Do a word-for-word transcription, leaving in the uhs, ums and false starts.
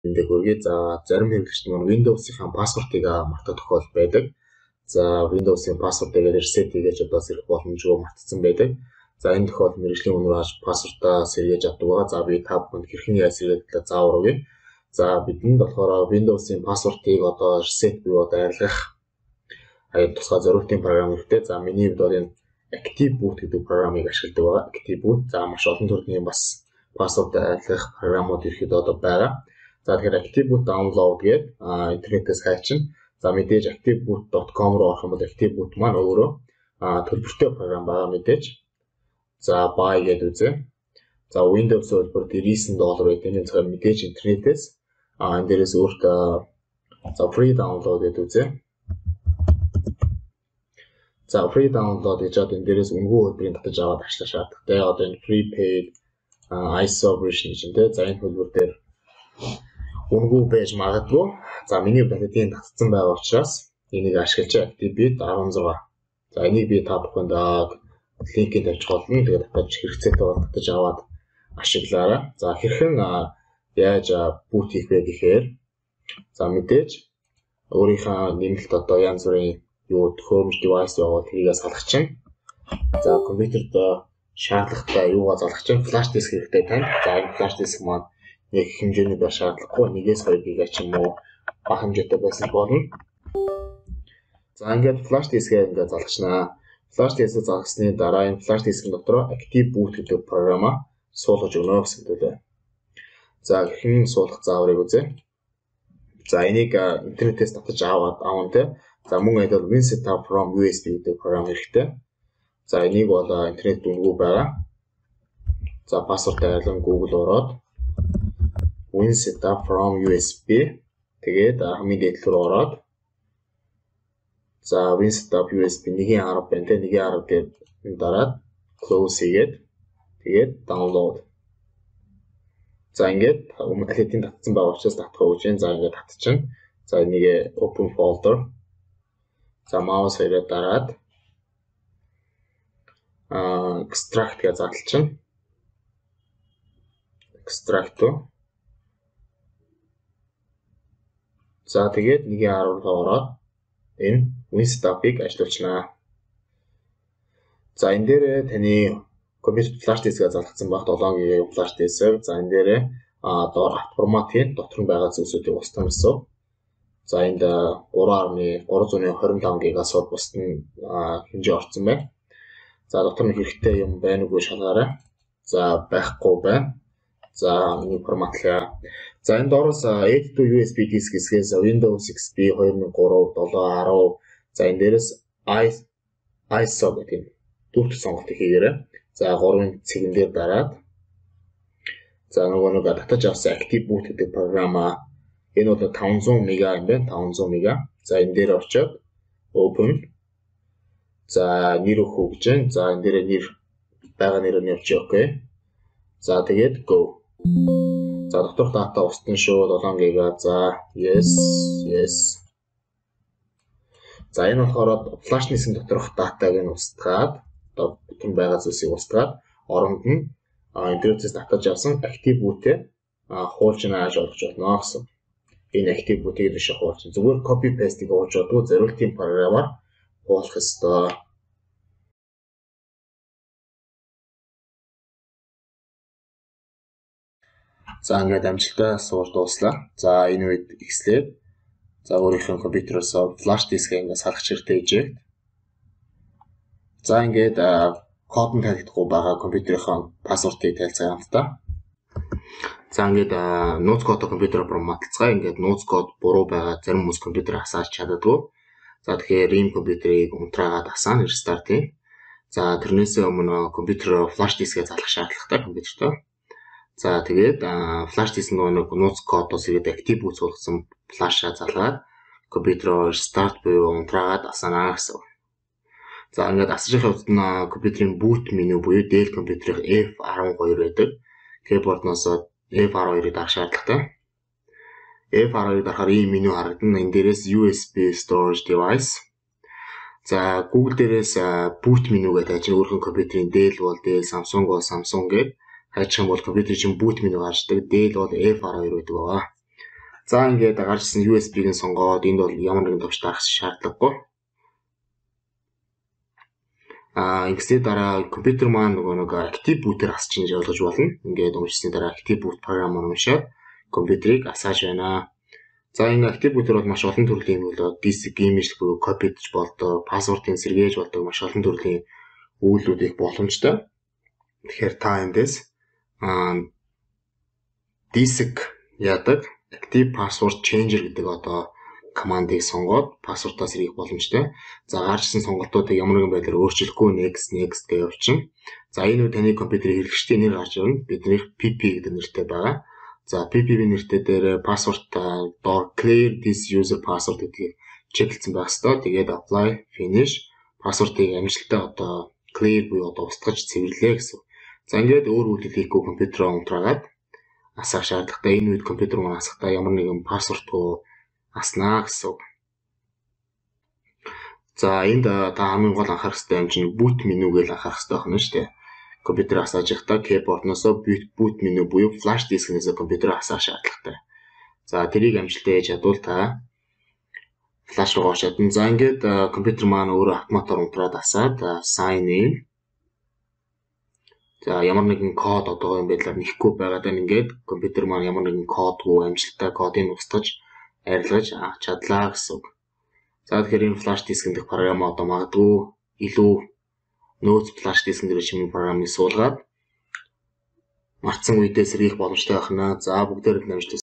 эндээ хөргий. За зарим хэрэглэгчид маань Windows-ийн пассвортыг мартах тохиолдол байдаг. За Windows-ийн пассвортыг reset хийж одоо сэрэх боломжгүй мартсан байдаг. За энэ тохиолдолд мэргэжлийн үнээр хаш пассвортаа сэргээж авдаг байгаа. За би та бүхэнд хэрхэн яаж сэргээдэг заавар өгье. За бидэнд болохоор Windows-ийн пассвортыг одоо reset буюу одоо арилгах аяд тусгай зориултын програм хэрэгтэй. За миний хувьд бол энэ Active Boot гэдэг програмыг ашигладаг байгаа. Active Boot за маш олон төрлийн бас пассворд арилгах програмууд ирэхэд одоо байгаа. За тэгэхээр Active Boot download гэдэг интернетээс хайчин. За мэдээж activeboot dot com руу орох юм бол Active Boot маань өөрөө төлбөртэй програм байгаа мэдээж. За buy гэдэг үзье. За Windows хөлбөр девяносто доллар байдаг. Энэ цагаар мэдээж интернетээс а энэ дээрээс өөртөө за free download гэдэг үзье. За free download гэж одоо энэ дээрээс үнэгүй хөлбөрийн татаж аваад ажиллах шаардлагатай. Одоо энэ prepaid I S O version гэж нэ. За энэ хөлбөр дээр үнэгүй байж магадгүй. За миний батадын татсан байгаа учраас энийг ашиглаж Active Boot дөрвөн. За энийг би та бүхэнд линкэд тавьж болно. Тэгээд татаж хэрэгцээтэй бол татаж аваад ашиглаарай. За хэрхэн яаж boot хийх вэ гэхээр за мэдээж өөрийнхөө нэмэлт одоо янз бүрийн юу төхөөрөмж device явуул тэрийг салгах чинь. За компьютерд шаардлагатай юугаа залгах чинь flash disk хэрэгтэй тань. За энэ flash disk маань нэг хэмжээний байх шаардлагагүй. Нэгээс хоёр гига ч юм уу бага хэмжээтэй байсан болно. За ингээд flash disk-ийг ингээд залгачнаа. Flash disk-ийг залгасны дараа энэ flash disk-ийн дотор Active Boot гэдэг програмаа суулгаж өгнө гэсэн төлөө. За хэрхэн суулгах зааврыг үзье. За энийг интернетээс татаж аваад аван тэ. За мөн айдал Win Setup from U S B гэдэг програм хэрэгтэй. За энийг бол интернет дүнгүй байгаа. За пассворд айлан Google ороод Win Setup from U S B тэгээд хамгийн дээд рүү ороод за Win Setup U S B нэгэн арга байна те нэгэн арга гэдэг дараад close хийгээд тэгээд download. За ингээд өмнөдлийн татсан байгаа учраас татах гэж байна. За ингээд татчихна. За энийг open folder. За mouse хоёроо дараад а extract гэж задлчихна. Extract. За тэгээд нэгэн арга руу ороод энэ Winstop-ыг ажиллуулчихнаа. За энэ дээр таны компьютер flash disk-ийг залгасан баг долоон гига flash disk. За энэ дээр а доор форматын дотор нь байгаа зүйлсүүдийг устгах гэсэн. За энд гурван гаруй двадцать пять гигаас бусд нь хэмжээ орсон байна. За дотор нь хэрэгтэй юм байна уу шалгаарай. За байхгүй байна. За нэг форматлаа. За энэ доороос Add to U S B disk хэсгээс Windows X P two thousand three, seven, ten. За энэ дээрээс I S O гэдэг дөрөвт сонголтыг хийгээрэй. За гурван цэгэн дээр дараад за нөгөө нэг татаж авсан Active Boot гэдэг програмаа энэ бол five hundred мега юм байна. five hundred мега. За энэ дээр очиод open. За нэр өгөх гэж байна. За энэ дээр нэр байгаа нэрээр нь явчих окей. За тэгээд go. За доторх дата устна шүү seven гига. За yes yes. За энэ болохоор flash disk-ийн доторх датаг нь устгаад одоо бүтэн байгаа зүйлсийг устгаад оронд нь интернетээс татаж авсан Active Boot-ээ хуулчин ааж олгож болно гэсэн. Энэ Active Boot-ийг дэше хуулчин. Зүгээр copy paste-ийг оож чадгүй зориултын програмаар хуулах ёстой. За ингээд амжилттай сууж дууслаа. За энэ үед ихслээд за өөрийнхөө компьютероос flash disk-ийг ингээд салгах хэрэгтэй ижээ. За ингээд код нь тайлбарлахгүй байгаа компьютерийнхаа пассвортыг тайлцгаа хамтдаа. За ингээд нууц кодоо компьютероор форматлцгаа. Ингээд нууц код буруу байгаа зарим хүмүүс компьютерыг асааж чаддаггүй. За тэгэхээр ийм компьютерийг унтраагаад асаана restart ий. За тэрнээс өмнө компьютероо flash disk-ийг залгах шаардлагатай компьютертоо. За тэгээд flash disk нэг нууц кодоос ирээд Active Boot суулгасан flash-аа залгаад компьютероо restart буюу унтраагаад асаана гэсэн. За ингээд асаж явахад нь компьютерийн boot меню буюу Dell компьютерийн F twelve байдаг. Keyboard-ноос F twelve-ыг дарах шаардлагатай. F twelve-ыг дарахаар ийм меню харагдана. Энэ дээрээс U S B storage device. За Google дээрээс boot меню гэдэг ажиг өөрхөн компьютерийн Dell бол Dell, Samsung бол Samsung гэдэг хайчих юм бол компьютерийн boot меню гарчдаг. Dell бол F twelve байдаг. За ингээд гарчсан ю эс би-г нь сонгоод энд бол ямар нэгэн товч дарах шаардлагагүй. Аа ингэсний дараа компьютер маань нөгөө нэг active boot-ээр асч ингэж ойлгож болно. Ингээд уншсны дараа active boot програм уншаад компьютерийг асааж байна. За энэ active boot-ээр бол маш олон төрлийн юм болоо disk image буюу copy гэж болдог, пассвортын сэргээж болдог маш олон төрлийн үйлдэл их боломжтой. Тэгэхээр та эндээс аа disk яадаг active password changer гэдэг одоо командыг сонгоод пассвортоо сэргээх боломжтой. За гарчсан сонголтуудыг ямар нэгэн байдлаар өөрчлөхгүй next next гэж явуулчихна. За энэ үе таны компьютерийн хэрэглэгчдийн нэр гарч ирнэ. Бидний пи пи гэдэг нэртэй байгаа. За пи пи нэртэй дээр пассворт доор clear this user password гэдгийг чеклсэн байх ёстой. Тэгээд apply finish пассвортыг амжилттай одоо clear буюу одоо устгаж цэвэрлээ гэсэн. За ингээд өөр үйлдэл хийхгүй компьютероо унтраагаад асах шаардлагатай. Энэ үед компьютер маань асахдаа ямар нэгэн пассвортгүй аснаа гэсэн. За энд та хамгийн гол анхаарах хэрэгтэй юм чинь boot menu гэж анхаарах хэрэгтэй байна шүү дээ. Компьютер асааж байхдаа keyboard-ноосоо boot menu буюу flash disk-нээс компьютер асаах шаардлагатай. За тэрийг амжилттай хийж чадвал та flash руу орж чадна. За ингээд компьютер маань өөрөө автоматар унтраад асаад sign in. За ямар нэгэн код одоо энэ байдлаар нэхгүй байгаад байна. Ингээд компьютер маань ямар нэгэн кодгүй амжилттай кодыг устгаж арилгаж чадлаа гэсэн. За тэгэхээр энэ flash disk гэдэг програм одоо магадгүй илүү нөөц flash disk дээр чимээ програмыг суулгаад мартсан үедээ сэргийх боломжтой байна. За бүгдээр нь амжилт